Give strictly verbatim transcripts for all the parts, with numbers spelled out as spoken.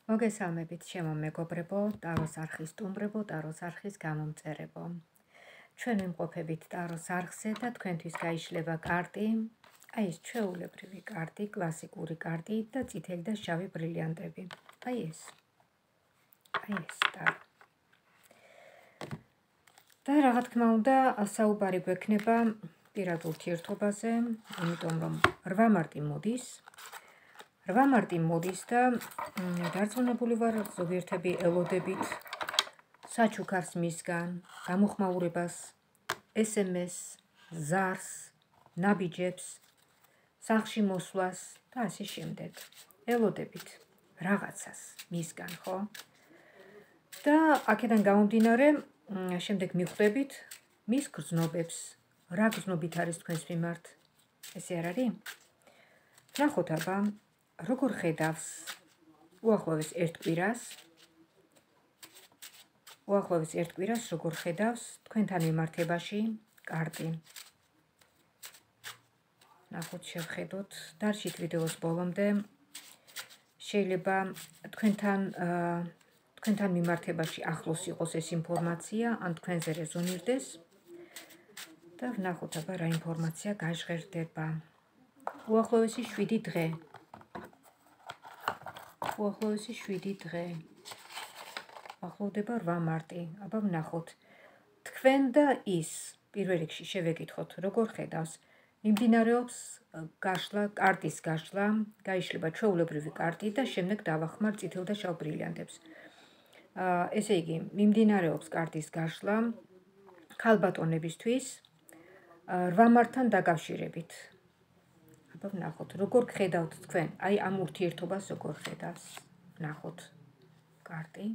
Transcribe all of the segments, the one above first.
მოგესალმებით, ჩემო მეგობრებო, ტაროს არხის სტუმრებო, ტაროს არხის გამომწერებო. ჩვენ ვიმყოფებით ტაროს არხზე და თქვენთვის გაიშლება კარტი, აი ეს ჩვეულებრივი კარტი, კლასიკური კარტი და წითელი და შავი ბრილიანტები. აი ეს. აი ეს ტარო. და რა თქმა უნდა, საუბარი გვექნება პირად ურთიერთობაზე, იმიტომ რომ რვა მარტი მოდის. რვა მარტი მოდის და დარწმუნებული ვარ, ზოგიერთები ელოდებით საჩუქარს მისგან, გამოხმაურებას, ეს ემ ეს, ზარს, ნაბიჯებს, სახლში მოსვლას და ასე შემდეგ. ელოდებით რაღაცას მისგან, ხო? და აქედან გამომდინარე, შემდეგ მიხვდებით მის გრძნობებს, რა გრძნობით არის თქვენს მიმართ. ესე არ არის? ნახოთ აბა, როგორ ხედავს უახლოეს ერთ კვირას, უახლოეს ერთ კვირას როგორ ხედავს თქვენთან მიმართებაში კარტი. ნახოთ, შევხედოთ, დარჩით ვიდეოს ბოლომდე. შეიძლება თქვენთან თქვენთან მიმართებაში ახლოს იყოს ეს ინფორმაცია, ან თქვენზე რეზონირდეს და ვნახოთ აბა რა ინფორმაცია გაჟღერდება. უახლოესი შვიდი დღე. უახლოესი შვიდი დღე. ახლოვდება რვა მარტი. აბა ვნახოთ. თქვენ და ის პირველ რიგში შევეკითხოთ, როგორ ხედავს. მიმდინარეობს გაშლა, კარტის გაშლა, გაიშლება ჩვეულებრივი კარტი და შემდეგ დავახმარ წითელ და შავ ბრილიანტებს. ესე იგი, მიმდინარეობს კარტის გაშლა ქალბატონებისთვის რვა მარტთან დაკავშირებით. აბა ვნახოთ, როგორ ხედავთ თქვენ, აი ამ ურთიერთობას როგორ ხედავს. ვნახოთ კარტი.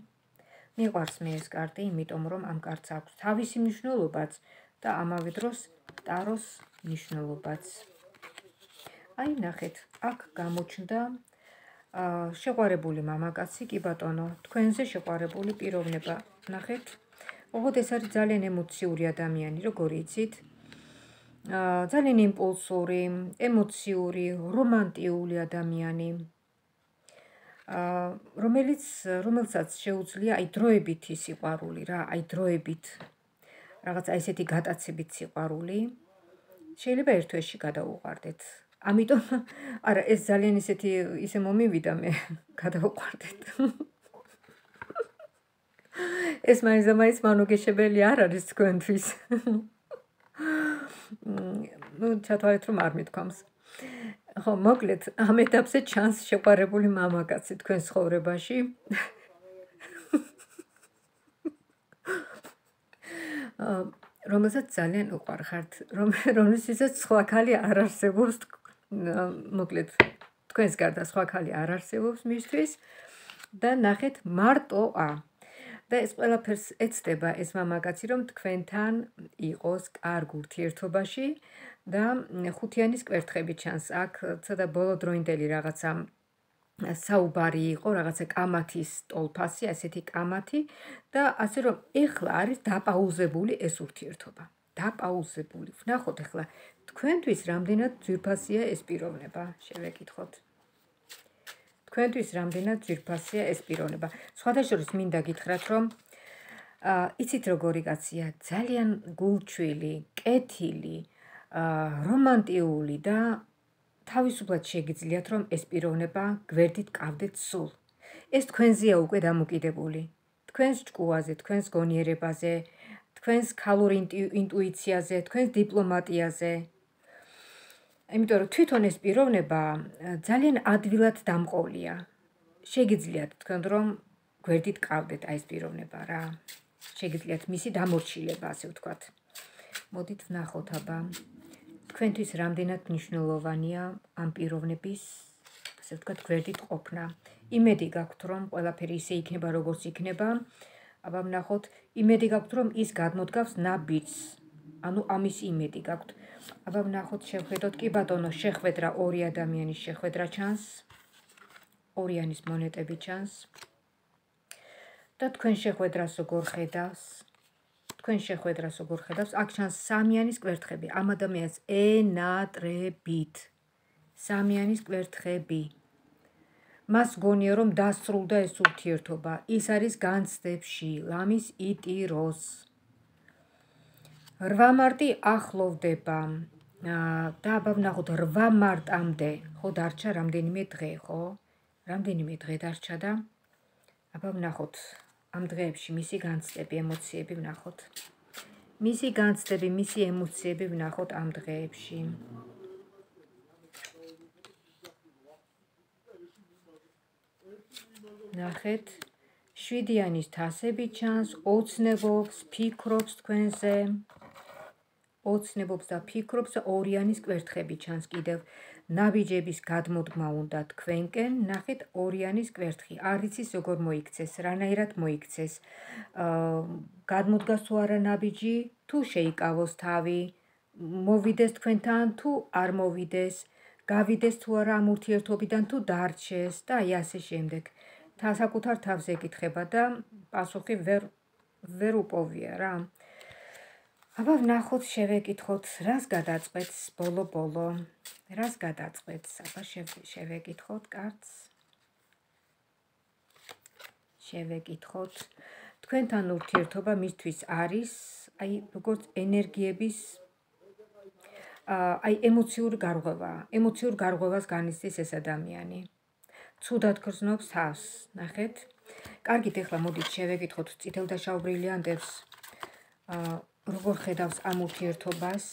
მიყვარს მე ეს კარტი, იმიტომ რომ ამ კარტს აქვს თავისი მნიშვნელობაც და ამავე დროს ტაროს მნიშვნელობაც. აი ნახეთ, აქ გამოჩნდა შეყვარებული მამაკაცი, კი ბატონო, თქვენზე შეყვარებული პიროვნება. ნახეთ, ოღონდ ეს არის ძალიან ემოციური ადამიანი, როგორ იცით? ძალიან იმპულსური, ემოციური, რომანტიული ადამიანი, რომელიც რომელსაც შეუძლია აი დროებითი სიყვარული რა, აი დროებით რაღაც აი ესეთი გატაცებით სიყვარული შეიძლება ერთ თვეში გადაუყვარდეთ. ამიტომ არა, ეს ძალიან ისეთი ისე მომივიდა მე გადაუყვარდეთ. ეს მაინც და მაინც მანოგეშებელი არ არის თქვენთვის. ну, ჩათვალეთ რომ არ მithქვამს. ხო, მოკლედ, ამ ეტაპზე ჩანს შეყვარებული მამაკაცი თქვენ ცხოვრებაში. რომელსაც ძალიან უყვარხართ, რომელსაც სხვა ქალი არ არსებობს, მოკლედ, თქვენს გარდა სხვა ქალი არ არსებობს მისთვის და ნახეთ მარტოა. და ეს ყველაფერს ეცდება ეს მამაკაცი, რომ თქვენთან იყოს კარგ ურთიერთობაში და ხუთიანის კვერთხები ჩანს. აქ ცოტა ბოლოდროინდელი რაღაცა საუბარი იყო, რაღაცა კამათის ტოლფასი, ასეთი კამათი და ასე რომ ეხლა არის დაპაუზებული ეს ურთიერთობა. დაპაუზებული. ვნახოთ ეხლა თქვენთვის რამდენად ძვირფასია ეს პიროვნება, შევეკითხოთ. თქვენთვის რამდენად ძვირფასია ეს პიროვნება. სხვადასხვა მინდა გითხრათ, რომ იცით როგორი კაცია, ძალიან გულჩვილი, კეთილი, რომანტიული და თავისუფლად შეგიძლიათ, რომ ეს პიროვნება გვერდით ყავდეთ სულ. ეს თქვენზეა უკვე დამოკიდებული. თქვენს ჭკუაზე, თქვენს გონიერებაზე, თქვენს ქალურ ინტუიციაზე, თქვენს დიპლომატიაზე. იმიტომ რომ თვითონ ეს პიროვნება ძალიან ადვილად დამყოლია. შეგიძლიათ თქვენ რომ გვერდით ყავდეთ აი ეს პიროვნება რა. შეგიძლიათ მისი დამორჩილება, ასე ვთქვათ. მოდით ვნახოთ აბა. თქვენთვის რამდენად მნიშვნელოვანია ამ პიროვნების, ასე ვთქვათ, გვერდით ყოფნა. იმედი გაქვთ, რომ ყველაფერი ისე იქნება, როგორც იქნება. აბა ვნახოთ, იმედი გაქვთ, რომ ის გადმოდგავს ნაბიჯს. ანუ ამის იმედი გაქვთ. აბა ვნახოთ, შევხედოთ, კი ბატონო, შეხვედრა, ორი ადამიანის შეხვედრა ჩანს. ორიანის მონეტები ჩანს. და თქვენ შეხვედრას როგორ ხედავს? თქვენ შეხვედრას როგორ ხედავს? აქ ჩანს სამიანის კვერთხები, ამ ადამიანს ენატრებით. სამიანის კვერთხები. მას გონია რომ დასრულდა ეს ურთიერთობა, ის არის განცდებში, ლამის იტიროს. რვა მარტი ახლოვდება და აბა ვნახოთ რვა მარტამდე, ხო დარჩა რამდენიმე დღე, ხო? რამდენიმე დღე დარჩა და აბა ვნახოთ ამ დღეებში მისი განცდები, ემოციები ვნახოთ. მისი განცდები, მისი ემოციები ვნახოთ ამ დღეებში. ნახეთ, შვიდიანის თასები ჩანს, ოცნებობს, ფიქრობს თქვენზე. ოცნებობს და ფიქრობს, ორიანის კვერთხები ჩანს კიდევ. ნაბიჯების გადმოდგმა უნდა თქვენკენ, ნახეთ ორიანის კვერთხი. არ იცის როგორ მოიქცეს, რანაირად მოიქცეს. გადმოდგას თუ არა ნაბიჯი, თუ შეიკავოს თავი, მოვიდეს თქვენთან თუ არ მოვიდეს, გავიდეს თუ არა ამ ურთიერთობიდან თუ დარჩეს და აი ასე შემდეგ. საკუთარ თავს ეკითხება და პასუხი ვერ ვერ უპოვია რა. აბა ვნახოთ, შევეკითხოთ, რას გადაწყვეტს ბოლო-ბოლო. რას გადაწყვეტს? აბა შევეკითხოთ კარტს. შევეკითხოთ. თქვენთან ურთიერთობა მისთვის არის, აი როგორც ენერგიების აი ემოციური გარღვევა. ემოციურ გარღვევას განიცდის ეს ადამიანი. ცუდად გრძნობს თავს, ნახეთ. კარგით, ეხლა მოდით შევეკითხოთ წითელ და შავ ბრილიანტებს. როგორ ხედავს ამ ურთიერთობას,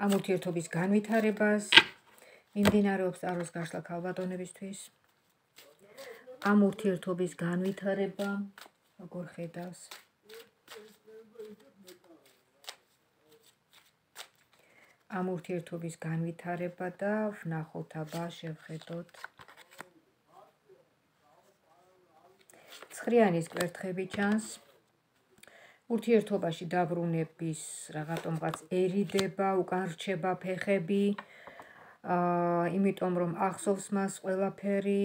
ამ ურთიერთობის განვითარებას, მიმდინარეობს ტაროს გაშლა ქალბატონებისთვის. ამ ურთიერთობის განვითარება, როგორ ხედავს. ამ ურთიერთობის განვითარება და ვნახოთ, აბა შევხედოთ. ცხრიანის კვერთხები ჩანს. ურთიერთობაში დაბრუნების რაღაცომღაც ერიდება, უკან რჩება ფეხები, იმიტომ რომ ახსოვს მას ყველაფერი.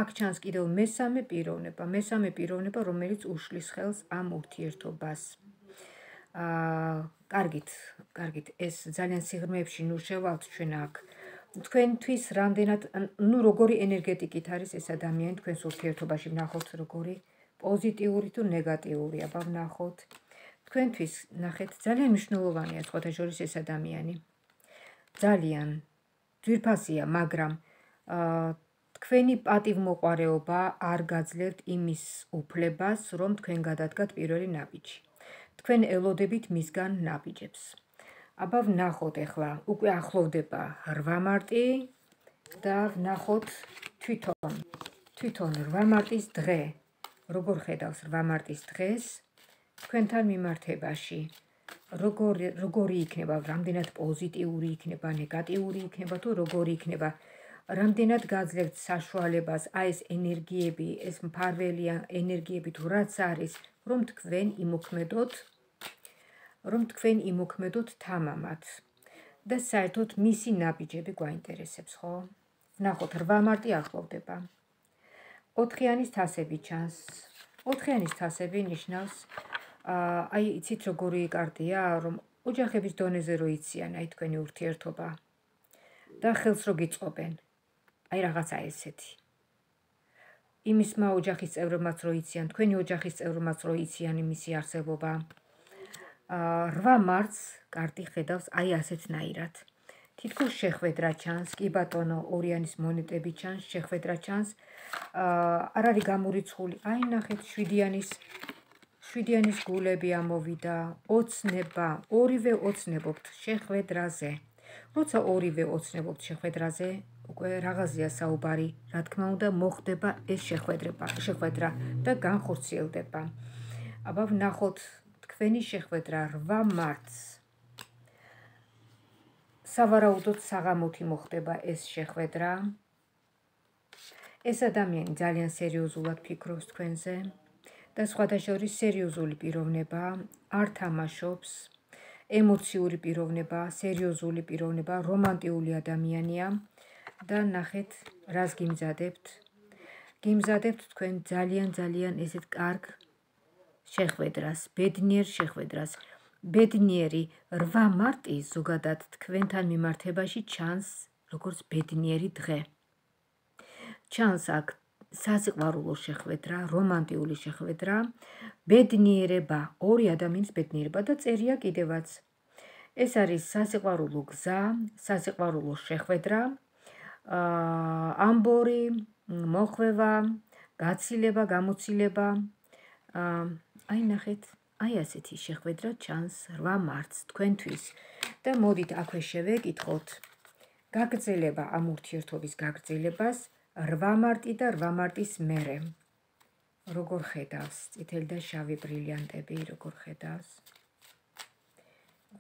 აქ ჩანს კიდევ მესამე პიროვნება, მესამე პიროვნება, რომელიც უშლის ხელს ამ ურთიერთობას. კარგით, კარგით, ეს ძალიან სიღრმეებში ნუ შევალთ ჩვენ აქ. თქვენთვის რამდენად, ნუ როგორი ენერგეტიკით არის ეს ადამიანი თქვენს ურთიერთობაში, ვნახოთ როგორი პოზიტიური თუ ნეგატიური, აბა ვნახოთ. თქვენთვის, ნახეთ, ძალიან მნიშვნელოვანია სხვათა შორის ეს ადამიანი. ძალიან ძვირფასია, მაგრამ თქვენი პატივმოყვარეობა არ გაძლევთ იმის უფლებას, რომ თქვენ გადადგათ პირველი ნაბიჯი. თქვენ ელოდებით მისგან ნაბიჯებს. აბა ვნახოთ ეხლა, უკვე ახლოვდება რვა მარტი და ვნახოთ თვითონ, თვითონ რვა მარტის დღე. როგორ ხედავს რვა მარტის დღეს თქვენთან მიმართებაში. როგორი იქნება, რამდენად პოზიტიური იქნება, ნეგატიური იქნება თუ როგორი იქნება. რამდენად გაძლევთ საშუალებას აი ეს ენერგიები, ეს მფარველი ენერგიები თუ რაც არის, რომ თქვენ იმოქმედოთ, რომ თქვენ იმოქმედოთ თამამად. და საერთოდ მისი ნაბიჯები გვაინტერესებს, ხო? ვნახოთ, რვა მარტი ახლოვდება. ოთხიანის თასები ჩანს. ოთხიანის თასები ნიშნავს, აი იცით როგორი კარტია, რომ ოჯახების დონეზე რო იციან აი თქვენი ურთიერთობა და ხელს რო გიწყობენ. აი რაღაცა ესეთი. იმისმა ოჯახის წევრებმაც რო იციან, თქვენი ოჯახის წევრებმაც რო იციან იმისი არსებობა. რვა მარტს კარტი ხედავს აი ასეთნაირად. თითქოს შეხვედრა ჩანს, კი ბატონო, ორიანის მონეტები ჩანს, შეხვედრა ჩანს. არ არის გამორიცხული. აი ნახეთ, შვიდიანის შვიდიანის გულები ამოვიდა, ოცნება, ორივე ოცნებობთ შეხვედრაზე. როცა ორივე ოცნებობთ შეხვედრაზე, უკვე რაღაცია საუბარი, რა თქმა უნდა, მოხდება ეს შეხვედრა და განხორციელდება. აბა ვნახოთ თქვენი შეხვედრა რვა მარტს. სავარაუდოდ საღამოთი მოხდება ეს შეხვედრა. ეს ადამიანი ძალიან სერიოზულად ფიქრობს თქვენზე და სხვათა შორის სერიოზული პიროვნება, არ თამაშობს, ემოციური პიროვნება, სერიოზული პიროვნება, რომანტიული ადამიანია და ნახეთ, რას გიმზადებთ. გიმზადებთ თქვენ ძალიან ძალიან ესეთ კარგ შეხვედრას, ბედნიერ შეხვედრას. ბედნიერი რვა მარტი ზოგადად თქვენთან მიმართებაში ჩანს როგორც ბედნიერი დღე. ჩანს აქ სასიყვარულო შეხვედრა, რომანტიული შეხვედრა, ბედნიერება, ორი ადამიანის ბედნიერება და წერია კიდევაც. ეს არის სასიყვარულო გზა, სასიყვარულო შეხვედრა, ამბორი, მოხვევა, გაცილება, გამოცილება. აი ნახეთ, აი ასეთი შეხვედრა ჩანს რვა მარტს თქვენთვის და მოდით აქვე შევეკითხოთ გაგრძელება ამ ურთიერთობის გაგრძელებას რვა მარტი და რვა მარტის მერე. როგორ ხედავს წითელი და შავი ბრილიანტები, როგორ ხედავს?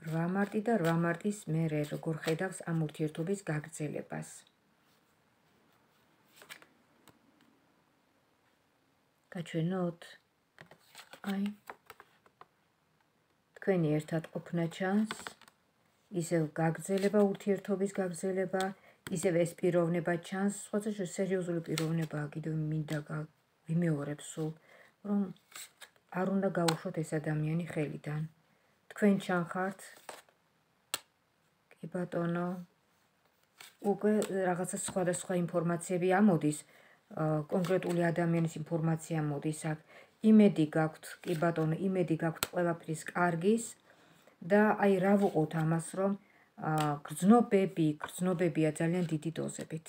რვა მარტი და რვა მარტის მერე როგორ ხედავს ამ ურთიერთობის გაგრძელებას? გაჩვენოთ? აი თქვენი ერთად ყოფნა ჩანს, ისევ გაგრძელება, ურთიერთობის გაგრძელება, ისევ ეს პიროვნება ჩანს, სხვათა სერიოზული პიროვნებაა, კიდევ მინდა ვიმეორებ სულ, რომ არ უნდა გაუშვოთ ეს ადამიანი ხელიდან. თქვენ ჩანხართ, კი ბატონო, უკვე რაღაცა სხვადასხვა ინფორმაციები ამოდის, კონკრეტული ადამიანის ინფორმაცია მოდის აქ. იმედი გაქვთ, კი ბატონო, იმედი გაქვთ ყველაფრის კარგის და აი რა ვუყოთ ამას, რომ გრძნობები, გრძნობებია ძალიან დიდი დოზებით.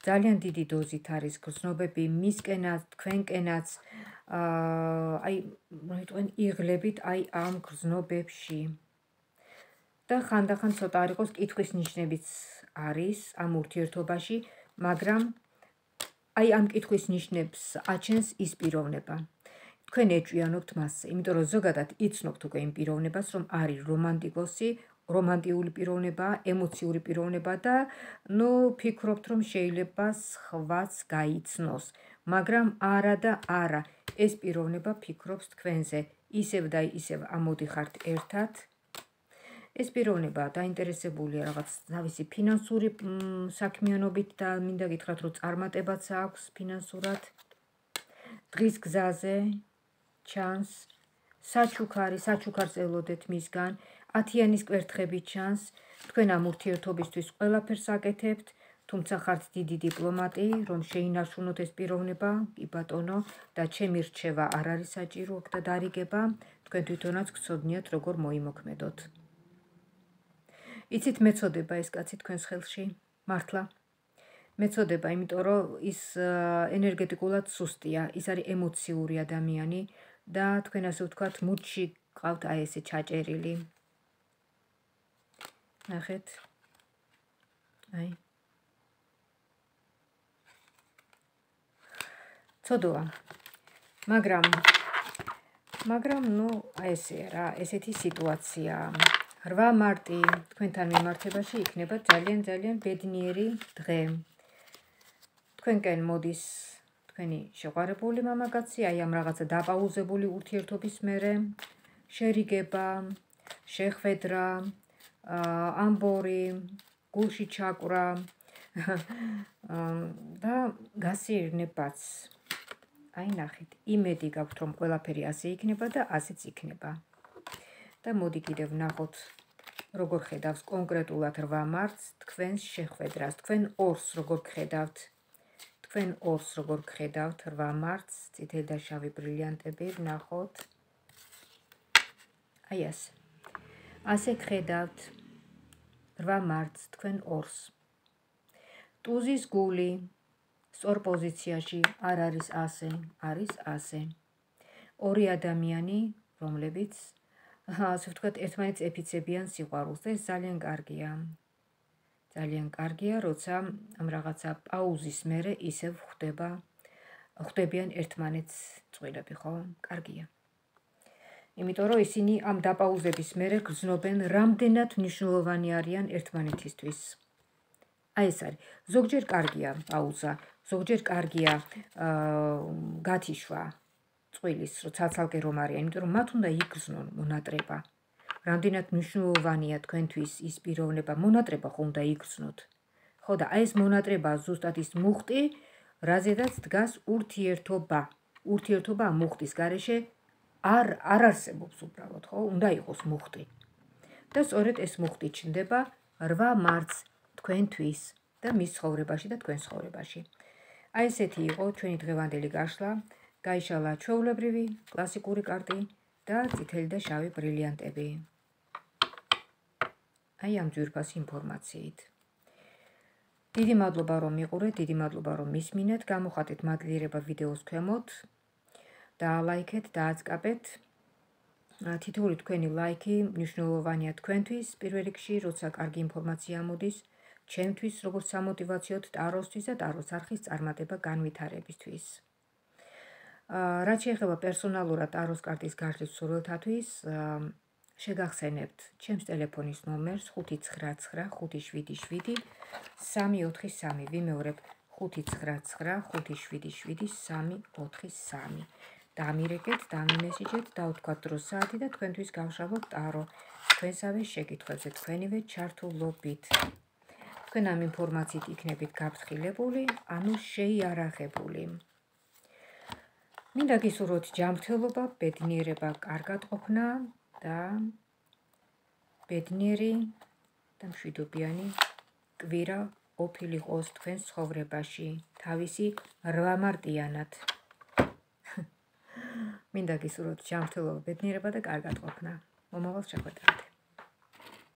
ძალიან დიდი დოზით არის გრძნობები მისკენაც, თქვენკენაც, აი მოიტყვენ იღლებით აი ამ გრძნობებში. და ხანდახან ცოტა არ იყოს კითხვის ნიშნებიც არის ამ ურთიერთობაში, მაგრამ აი ამ კითხვის ნიშნებს აჩენს ის პიროვნება. თქვენ ეჭვიანობთ მასზე, იმიტომ რომ ზოგადად იცნობთ უკვე იმ პიროვნებას, რომ არის რომანტიკოსი, რომანტიული პიროვნება, ემოციური პიროვნება და ნუ ფიქრობთ, რომ შეიძლება სხვაც გაიცნოს, მაგრამ არა და არა, ეს პიროვნება ფიქრობს თქვენზე, ისევ და ისევ ამოდიხართ ერთად. ეს პიროვნება დაინტერესებულია რაღაც თავისი ფინანსური საქმიანობით და მინდა გითხრათ, რომ წარმატებაც აქვს ფინანსურად. დღის გზაზე ჩანს, საჩუქარი, საჩუქარს ელოდეთ მისგან, ათიანის კვერთხები ჩანს, თქვენ ამ ურთიერთობისთვის ყველაფერს აკეთებთ, თუმცა ხართ დიდი დიპლომატი, რომ შეინარჩუნოთ ეს პიროვნება, კი ბატონო, და ჩემი რჩევა არ არის საჭირო და დარიგება, თქვენ თვითონაც გცოდნიათ როგორ მოიმოქმედოთ. იცით მეწოდება ეს კაცი თქვენს ხელში, მართლა. მეწოდება, იმიტომ რომ ის ენერგეტიკულად სუსტია, ის არის ემოციური ადამიანი და თქვენ ასე ვთქვათ, მუდში ყავთ აი ესე ჩაჭერილი. ნახეთ. აი. ცოდოა. მაგრამ მაგრამ ნუ აი ესეა რა, ესეთი სიტუაცია. რვა მარტი თქვენთან მიმართებაში იქნება ძალიან ძალიან ბედნიერი დღე. თქვენკენ მოდის თქვენი შეყვარებული მამაკაცი, აი ამ რაღაცა დაპაუზებული ურთიერთობის მერე, შერიგება, შეხვედრა, ამბორი, გულში ჩაკვრა და გასიერნებაც. აი ნახეთ, იმედი გაქვთ, რომ ყველაფერი ასე იქნება და ასეც იქნება. და მოდი კიდევ ვნახოთ, როგორ ხედავს კონკრეტულად რვა მარტს თქვენს შეხვედრას, თქვენ ორს როგორ გხედავთ, თქვენ ორს როგორ გხედავთ რვა მარტს, წითელი და შავი ბრილიანტები, ვნახოთ. აი ასე. ასე გხედავთ რვა მარტს თქვენ ორს. ტუზის გული სწორ პოზიციაში არ არის ასე, არის ასე. ორი ადამიანი, რომლებიც ასე ვთქვათ, ერთმანეთს ეფიცებიან სიყვარულს და ეს ძალიან კარგია. ძალიან კარგია, როცა ამ რაღაცა პაუზის მერე ისევ ხვდება, ხვდებიან ერთმანეთს წყვილები, ხო? კარგია. იმიტომ რომ ისინი ამ დაპაუზების მერე გრძნობენ, რამდენად მნიშვნელოვანი არიან ერთმანეთისთვის. აი ეს არის. ზოგჯერ კარგია პაუზა, ზოგჯერ კარგია გათიშვა წყვილის, რომ ცალ-ცალკე რომ არიან, იმიტომ რომ მათ უნდა იგრძნონ მონატრება. რამდენად მნიშვნელოვანია თქვენთვის ის პიროვნება, მონატრება ხო უნდა იგრძნოთ. ხო და აი ეს მონატრება ზუსტად ის მუხტი, რაზედაც დგას ურთიერთობა. ურთიერთობა ამ მუხტის გარეშე არ არ არსებობს უბრალოდ, ხო? უნდა იყოს მუხტი. და სწორედ ეს მუხტი ჩნდება რვა მარტს თქვენთვის და მის ცხოვრებაში და თქვენ ცხოვრებაში. აი ესეთი იყო ჩვენი დღევანდელი გაშლა. გაიშალა ჩვეულებრივი კლასიკური კარტი და წითელი და შავი ბრილიანტები. აი ამ ძვირფას ინფორმაციით. დიდი მადლობა რომ მიყურეთ, დიდი მადლობა რომ მისმინეთ, გამოხატეთ მადლიერება ვიდეოს ქვემოთ, დაალაიქეთ, დააწყაბეთ. თითოეული თქვენი ლაიქი მნიშვნელოვანია თქვენთვის, პირველ რიგში, როცა კარგი ინფორმაცია მოდის, ჩემთვის, როგორც სამოტივაციოდ ტაროსთვის და ტაროს არხის წარმატება განვითარებისთვის. რაც შეეხება პერსონალურად ტაროს კარტის გაშლის მსურველთათვის, შეგახსენებთ ჩემს ტელეფონის ნომერს ხუთი ცხრა ცხრა ხუთი შვიდი შვიდი სამი ოთხი სამი. ვიმეორებ ხუთი ცხრა ცხრა ხუთი შვიდი შვიდი სამი ოთხი სამი. დამირეკეთ, დამიმესიჯეთ, დავთქვათ დროს საათი და თქვენთვის გავშალოთ ტარო თქვენსავე შეკითხვებზე თქვენივე ჩართულობით. თქვენ ამ ინფორმაციით იქნებით გაფრთხილებული, ანუ შეიარაღებული. მინდა გისურვოთ ჯანმრთელობა, ბედნიერება, კარგად ყოფნა და ბედნიერი და მშვიდობიანი კვირა ყოფილი ყოს თქვენს ცხოვრებაში, თავისი რვამარტიანად. მინდა გისურვოთ ჯანმრთელობა, ბედნიერება და კარგად ყოფნა. მომავალ შეხვედრამდე.